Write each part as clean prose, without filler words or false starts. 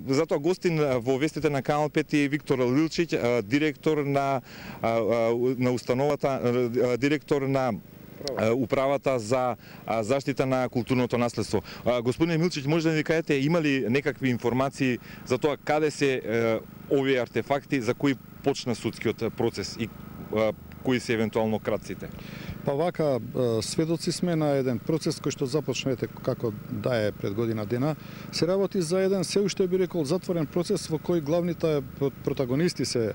Затоа гостин во вестите на Канал 5 е Виктор Лилчиќ, директор на установата, директор на управата за заштита на културното наследство. Господин Милчиќ, може да ни кажете, има ли некакви информации за тоа каде се овие артефакти, за кои почна судскиот процес и кои се евентуално крадците? Па вака, сведоци сме на еден процес кој што започнете како да е пред година дена. Се работи за еден се уште би рекол затворен процес во кој главните протагонисти се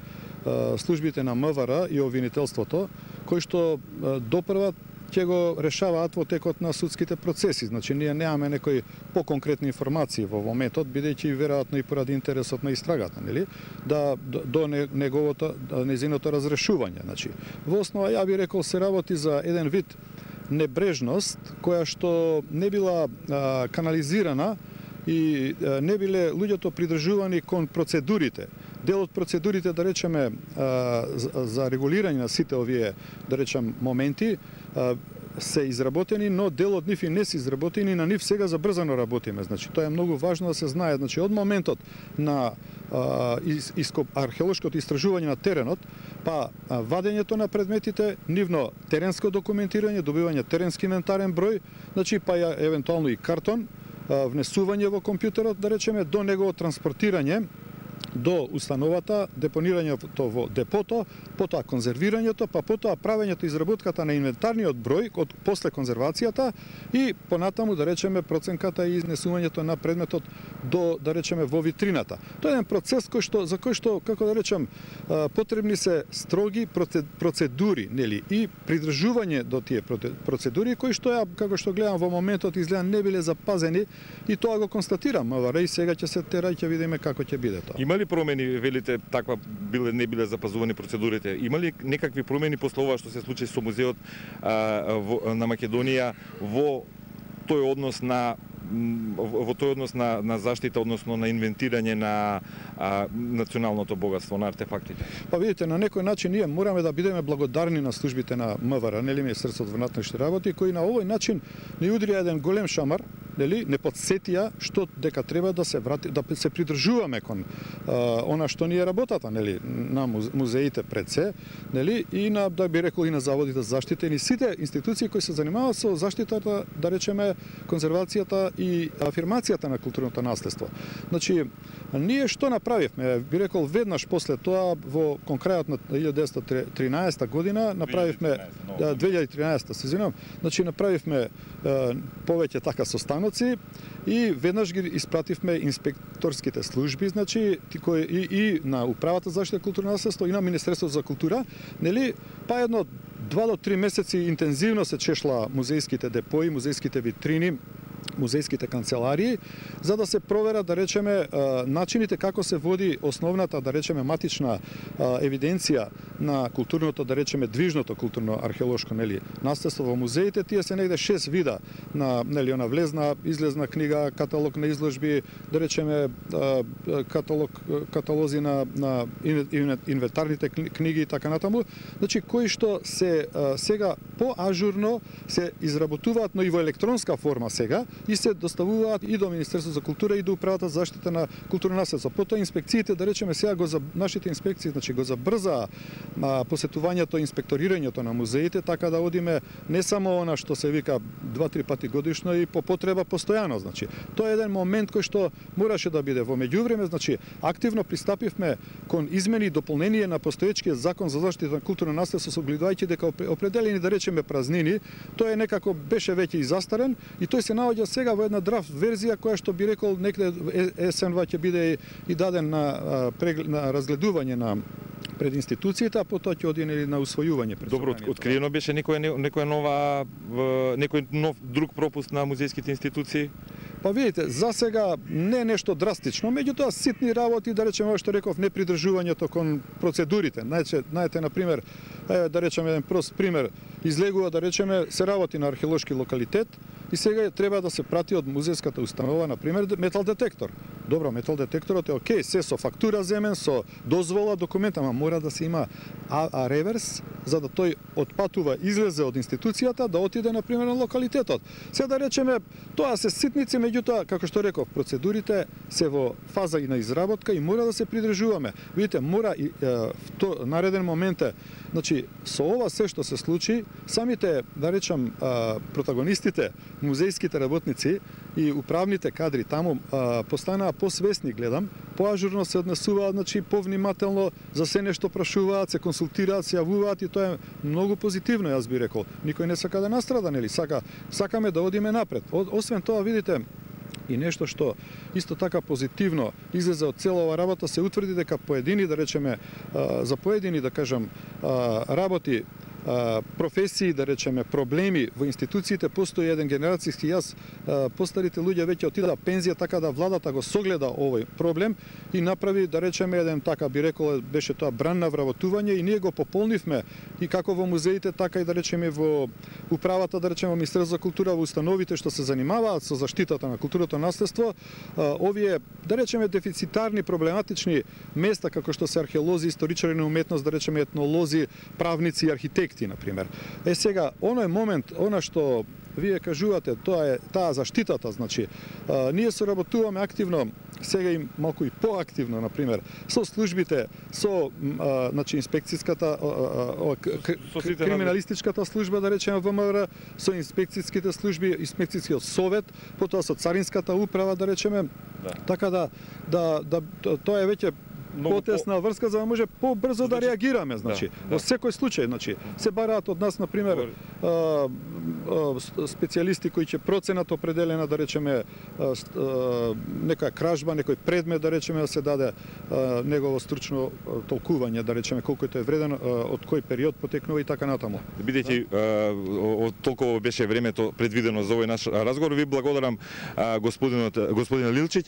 службите на МВР и обвинителството, кои што допрва ќе го решаваат во текот на судските процеси. Значи, ние немаме некои поконкретни информации во моментот, бидејќи веројатно и поради интересот на истрагата, нели? До незиното разрешување. Значи, во основа, ја би рекол, се работи за еден вид небрежност, која што не била канализирана и не биле луѓето придржувани кон процедурите. Дел од процедурите, да речеме, за регулирање на сите овие, да речем, моменти, се изработени, но дел од нив и не се изработени, на нив сега забрзано работиме. Значи, тоа е многу важно да се знае. Значи, од моментот на археолошкото истражување на теренот, па вадењето на предметите, нивно теренско документирање, добивање теренски инвентарен број, значи, па евентуално и картон, внесување во компјутерот, да речеме, до негово транспортирање до установата, депонирањето во депото, потоа конзервирањето, па потоа правењето и изработката на инвентарниот број од после конзервацијата и понатаму, да речеме, проценката и изнесувањето на предметот до, да речеме, во витрината. Тоа е еден процес за кој што, како да речем, потребни се строги процедури, нели, и придржување до тие процедури кои што ја, како што гледам во моментот, изгледа не биле запазени и тоа го констатирам, и сега ќе се тера и ќе видиме како ќе биде тоа. Има ли промени, велите, таква не биле запазувани процедурите? Има ли некакви промени после ова што се случи со музеот на Македонија во тој однос на заштита, односно на инвентирање на националното богатство, на артефактите? Па видите, на некој начин ние мораме да бидеме благодарни на службите на МВР, нели, Министерството за внатрешни работи, кои на овој начин ни удрија еден голем шамар, нели, не подсетија што дека треба да се врати, да се придржуваме кон она што ни е работата, нели, на музеите пред се, нели, и на, да би рекол, и на заводите за заштита, и сите институции кои се занимаваат со заштитата, да речеме, конзервацијата и афирмацијата на културното наследство. Значи, ние што направивме? Би рекол, веднаш после тоа, кон крајот на 1913 година, направивме 2013, се извинувам, значи направивме повеќе така состаноци и веднаш ги испративме инспекторските служби, значи и на управата за заштита културно наследство и на Министерството за култура, нели, па едно 2 до 3 месеци интензивно се чешла музејските депои, музејските витрини, музејските канцеларии, за да се проверат, да речеме, начините како се води основната, да речеме, матична евиденција на културното, да речеме, движното културно археолошко, нели, наследство во музеите. Тие се негде 6 вида на, нели, она влезна, излезна книга, каталог на изложби, да речеме, каталози на инвентарните книги и така натаму, значи кои што се сега поажурно се изработуваат, но и во електронска форма сега, и се доставуваат и до Министерството за култура и до управата за заштита на културно наследство. Потоа инспекциите, да речеме, сега нашите инспекции, значи го забрза посетувањето, инспекторирањето на музеите, така да одиме не само она што се вика 2-3 пати годишно и по потреба постојано, значи. Тоа е еден момент кој што мораше да биде. Во меѓувреме, значи, активно пристапивме кон измени и дополнение на постоечкиот закон за заштита на културно наследство, согледувајќи дека определени, да речеме, празнини, тоа е некако беше веќе и застарен и тој се наоѓа сега во една драфт верзија која што би рекол некаде есенва ќе биде и даден на разгледување на пред институцијата, а потоа ќе оди на усвојување. Добро, откриено беше некој нов друг пропуст на музејските институции? Па видите, за сега не нешто драстично, меѓутоа ситни работи, да речеме, што реков, непридржувањето кон процедурите. Знаете, на пример, да речеме еден прост пример, излегува, да речеме, се работи на археолошки локалитет и сега треба да се прати од музејската установа, на пример, метал детектор. добро, метал детекторот е окей, се со фактура земен, со дозвола, документ, ама мора да се има реверс, за да тој отпатува, излезе од институцијата, да отиде на пример на локалитетот. Се да речеме, тоа се ситници, меѓутоа, како што реков, процедурите се во фаза и на изработка и мора да се придржуваме. Видите, мора и нареден момент е, значи, со ова се што се случи, самите, да речам, протагонистите, музејските работници и управните кадри таму постанаа посвесни, гледам, поажурно се однесуваат, значи повнимателно за се нешто прашуваат, се консултираат, се јавуваат и тоа е многу позитивно, јас би рекол. Никој не сака да настрада, нели? Сакаме да одиме напред. Освен тоа, видите, и нешто што исто така позитивно излезе од цела ова работа, се утврди дека поедини, да речеме, за поедини, да кажам, работи, професии, да речеме, проблеми во институциите, постои еден генерацијски јас, постарите луѓе веќе отидаа пензија, така да владата го согледа овој проблем и направи, да речеме, еден, така би рекол, беше тоа бран на вработување и ние го пополнивме и како во музеите, така и, да речеме, во управата, да речеме, Министерство за култура, во установите што се занимаваат со заштитата на културното наследство, овие, да речеме, дефицитарни, проблематични места, како што се археолози, историчари на уметност, да речеме, етнолози, правници, архитекти, например. Сега, оној момент, она што вие кажувате, тоа е таа заштитата, значи, ние соработуваме активно, сега и малку и поактивно, например, со службите, со, значи, инспекцијската, криминалистичката служба, да речеме, ВМРО, со инспекцијските служби, инспекцијскиот совет, потоа со царинската управа, да речеме, така да тоа е веќе потесна врска за да може побрзо да реагираме, значи, во секој случај, значи, се бараат од нас, например, специјалисти кои ќе проценат определена, да речеме, некоја кражба, некој предмет, да речеме, да се даде негово стручно толкување, да речеме, колку е вреден, од кој период потекнува и така натаму. Бидејќи толкова беше времето предвидено за овој наш разговор, ви благодарам господин Лилчиќ.